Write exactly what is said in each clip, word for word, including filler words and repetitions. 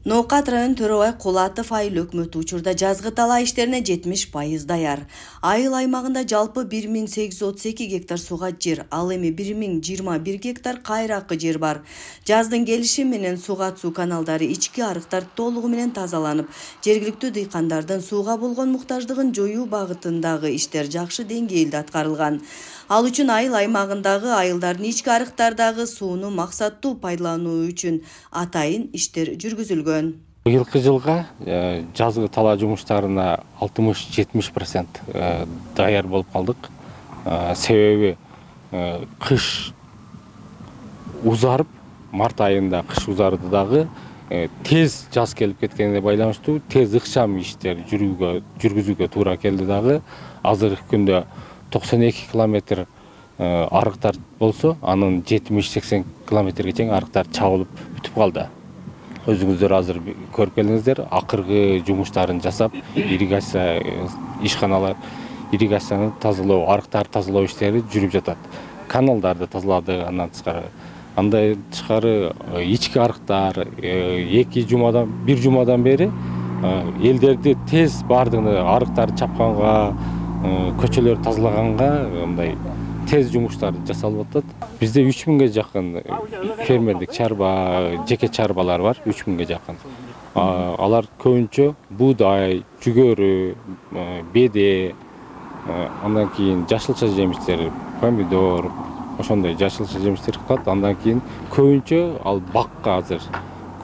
Ноокат район Төрөбай Кулатов айыл өкмөтү учурда жазгы талаа иштерине жетимиш пайыз даяр. Айыл аймагында жалпы бир миң сегиз жүз отуз эки гектар суга жер, ал эми бир миң жыйырма бир гектар кайракы жер бар. Жаздын келиши менен суга суу каналдары, ички арыктар толугу менен тазаланып, жергиликтүү дыйкандардын сууга болгон муктаждыгын жоюу багытындагы иштер жакшы деңгээлде аткарылган. Ал үчүн айыл аймагындагы айылдардын ички арыктардагы сууну максаттуу пайдалануу үчүн атайын иштер жүргүзүлгөн. Быйылкы жылга жазгы талаа жумуштарына алтымыш жетимиш процент даяр болуп калдык. Себеби кыш узарып, март айында кыш узарды дагы тез жаз келип кеткенине байланыштуу тез ыкчам иштер жүргүзүүгө туура келди дагы. Азыркы күндө токсон эки километр арыктар болсо, анын жетимиш сексен километрге чейин арыктар чабылып бүтүп калды. Өзүңүздөр азыр көрүп келдиңиздер, акыркы жумуштарын жасап, ирригация ишканалар, ирригацияны тазалоо, арыктарды тазалоо иштери жүрүп жатат. Каналдарды тазалады, андан тышкары. Андай тышкары ички арыктар эки жумадан, бир жумадан бери элдерди тез бардыгы арыктарды чапканга, көчөлөрдү тазалаганга мындай тез жумуштар жасалып атат. Бизде үч миңге жакын фермерлик чарба, жеке чарбалар бар, үч миңге жакын. Алар көбүнчө буудай, жүгөрү, беде, андан кийин жашылча жемиштер, помидор, ошондой жашылча жемиштер кылат. Андан кийин көбүнчө ал бакка азыр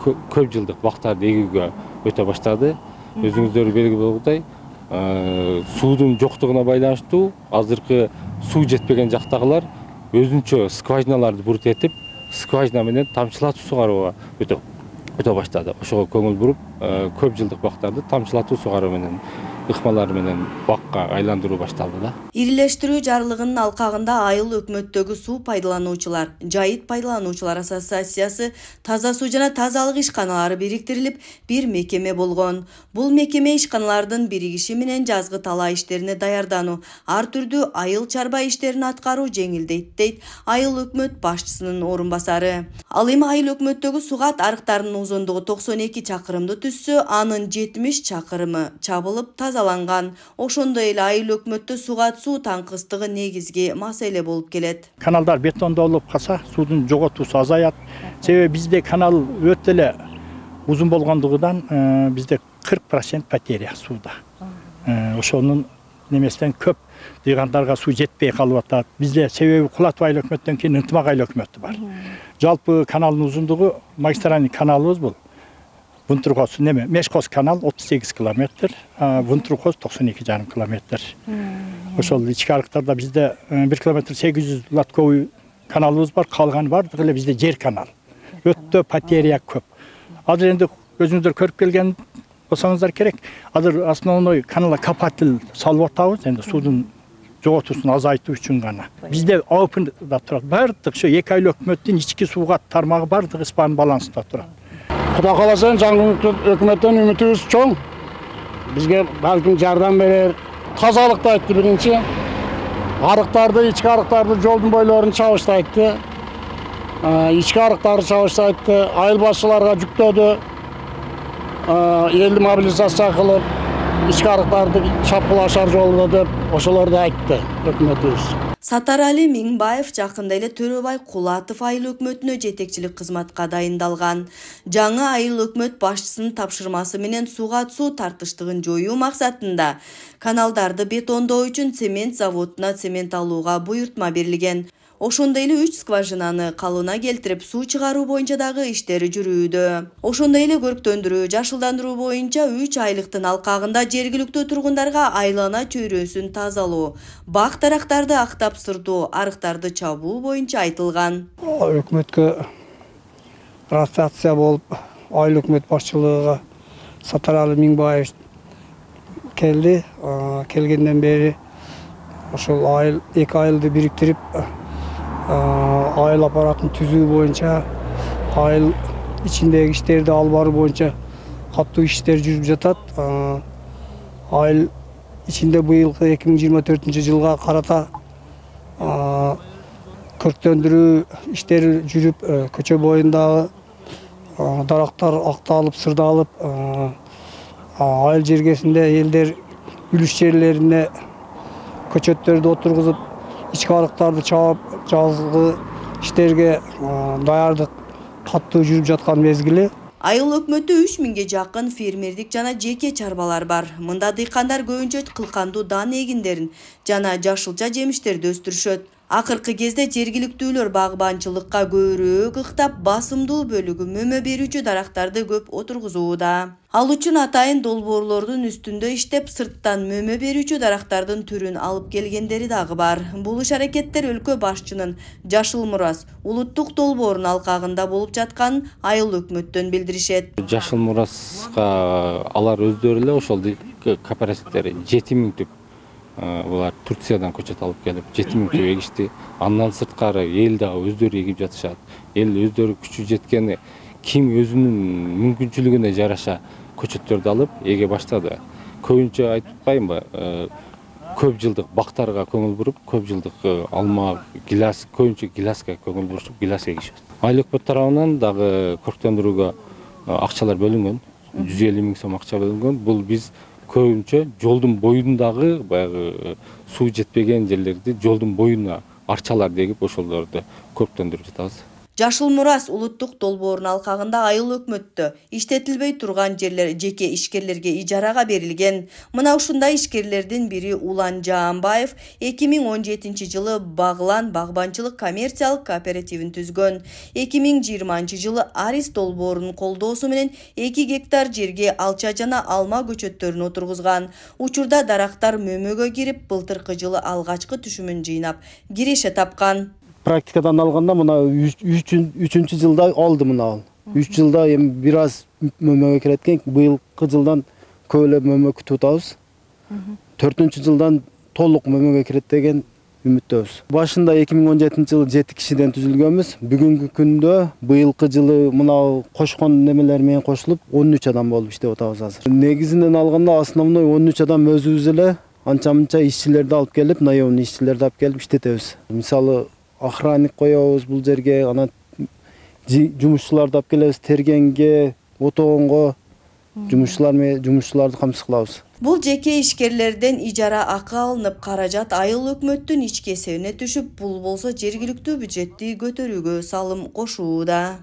көп жылдык бактарды эгүүгө өтө баштады. Өзүңүздөр белгилүү болгудай, суудун жоктугуна байланыштуу азыркы суу жетпеген жактагылар өзүнчө скважиналарды бурут этип, скважина менен тамчылатуу сугарууга өтө өтө баштады. Ошого көңүл буруп, көп жылдык бактарды тамчылатуу сугаруу менен, ыкмалар менен бакка айландыруу башталды да. Ирилештирүү жарлыгынын алкагында айыл өкмөттөгү суу пайдалануучулар, жайыт пайдалануучулар ассоциациясы, таза суу жана тазалык ишканалары бириктирилип, бир мекеме болгон. Бул мекеме ишканалардын биригиши менен жазгы талаа иштерине даярдануу, ар түрдүү айыл чарба иштерин аткаруу жеңилдейт, дейт айыл өкмөт башчысынын орун басары. Ал эми айыл өкмөттөгү сугат арыктарынын узундугу токсон эки чакырымды түзсө, анын жетимиш чакырымы чабылып тазаланган. Ошондой эле айыл өкмөттө сугат суу таңкыстыгы негизги маселе болуп келет. Каналдар бетондолуп калса, суудун жоготуусу азаят. Себеби бизде канал өтө эле узун болгондугунан бизде кырк процент потеря сууда. Ошонун немесинен көп дыйгандарга суу жетпей калып атат. Бизде себеби Кулатов айыл өкмөттөн кийин Ынтымак айыл өкмөтү бар. Жалпы каналдын узундугу, магистральный каналыбыз бул. Вунтуркос неме, Мешкос канал отуз сегиз километр, Вунтуркос токсон эки жарым километр. Ошол ички арыктарда бизде бир километр сегиз жүз лотковый каналыбыз бар, калганы бардыгы эле бизде жер канал. Өтө потеря көп. Азыр энди өзүңүздөр көрүп келген болсоңуздар керек. Азыр основной каналга копатель салып атабыз, энди суудун жоготуусун азайтуу үчүн гана. Бизде опында турат. Бардык ошо эки айыл өкмөттүн ички сууга тармагы бардыгы испан балансында турат. Кудай кааласа, жаңы өкмөттөн үмүтүбүз чоң. Бизге балким жардам берер. Тазалыкты айтты биринчи. Арыктарды, ички арыктарды жолдун бойлорун чабыштайтты. Ички арыктарды чабыштайтты. Айыл башчыларга жүктөдү. Элди мобилизация кылып, ички арыктарды чапкылашар жолдо деп ошолорду айтты өкмөтүбүз. Сатарали Миңбаев жакында эле Төрөбай Кулатов айыл өкмөтүнө жетекчилик кызматка дайындалган. Жаңы айыл өкмөт башчысынын тапшырмасы менен суга суу тартыштыгын жоюу максатында каналдарды бетондоо үчүн цемент заводуна цемент алууга буйртма берилген. Ошондой эле үч скважинаны калыбына келтирип, суу чыгаруу боюнча дагы иштери жүрүүдө. Ошондой эле көрктөндүрүү, жашылдандыруу боюнча үч айлыктын алкагында жергиликтүү тургундарга айлана чөйрөсүн тазалоо, бак дарактарды актап сырдоо, арыктарды чабуу боюнча айтылган. Өкмөткө ротация болуп, айыл өкмөт башчылыгына Сатарали Миңбаев келди. Келгенден бери ошол айыл эки айылды бириктирип, айыл аппаратын түзүү боюнча, айыл ичиндеги иштерди алып баруу боюнча каттуу иштер жүрүп жатат. Айыл ичинде быйылкы эки миң жыйырма төртүнчү жылга карата көрктөндүрүү иштери жүрүп, көчө боюндагы дарактар акталып, сырдалып, айыл жергесинде элдер үлүш жерлерине көчөттөрдү отургузуп, ички арыктарды чаап, жазгы иштерге даярдык катуу жүрүп жаткан мезгили. Айыл өкмөтү үч миңге жакын фермердик жана жеке чарбалар бар. Мында дыйкандар көбүнчө кылкандуу дан эгиндерин жана жашылча жемиштерди өстүрүшөт. Акыркы кезде жергиликтүүлөр багбанчылыкка көбүрөөк ыктап, басымдуу бөлүгү мөмө берүүчү дарактарды көп отургузууда. Ал үчүн атайын долбоорлордун үстүндө иштеп, сырттан мөмө берүүчү дарактардын түрүн алып келгендери дагы бар. Бул иш-аракеттер өлкө башчынын Жашыл Мурас улуттук долбоорунун алкагында болуп жатканын айыл өкмөттөн билдиришет. Жашыл Мураска алар өздөрү эле ошол кооперативдер жети миң түп булар Турциядан көчөт алып келип жети миң түп эгишти. Андан сырткары эл дагы өздөрү эгип жатышат. Эл өздөрү күчү жеткени ким өзүнүн мүмкүнчүлүгүнө жараша көчөттөрдү алып эге баштады. Көбүнчө айтып атпаймынбы, көп жылдык бактарга көңүл буруп, көп жылдык алма, гилас, көбүнчө гиласка көңүл бурушуп, гилас эгишет. Айыл өкмөт тарабынан дагы көрктөндүрүүгө акчалар бөлүнгөн, жүз элүү миң сом акча бөлүнгөн. Бул биз көбүнчө жолдун боюндагы баягы суу жетпеген жерлерди жолдун боюна арчалар дегип ошолорду көрктөндүрүп жатабыз. Жашыл Мурас улуттук долбоорунун алкагында айыл өкмөттө иштетилбей турган жерлер жеке ишкерлерге ижарага берилген. Мына ушундай ишкерлердин бири Улан Жаанбаев эки миң он жетинчи жылы Баглан багбанчылык коммерциялык кооперативин түзгөн. эки миң жыйырманчы жылы Арис долбоорунун колдоосу менен эки гектар жерге алча жана алма көчөттөрүн отургузган. Учурда дарактар мөмөгө кирип, былтыркы жылы алгачкы түшүмүн жыйнап, киреше тапкан. Практикадан алганда мына үчүнчү жылда алды мына ал. үч жылда эми бир аз мөмөгө кирет экен. Быйылкы жылдан көп эле мөмө күтүп атабыз. төртүнчү жылдан толук мөмөгө кирет деген үмүттөбүз. Башында эки миң он жетинчи жылы жети кишиден түзүлгөнбүз. Бүгүнкү күндө быйылкы жылы мына кошкон немелер менен кошулуп он үч адам болуп иштеп атабыз азыр. Негизинен алганда основной он үч адам өзүбүз эле анча-мынча ишчилерди алып келип, наемный ишчилерди алып келип иштетебиз. Мисалы охранник коебуз бул жерге, анан жумушчуларды алып келебиз, тергенге, отогонго жумушчулар менен жумушчуларды камсыз кылабыз. Бул жеке ишкерлерден ижара акы алынып, каражат айыл өкмөттүн ички эсебине түшүп, бул болсо жергиликтүү бюджетти көтөрүүгө салым кошууда.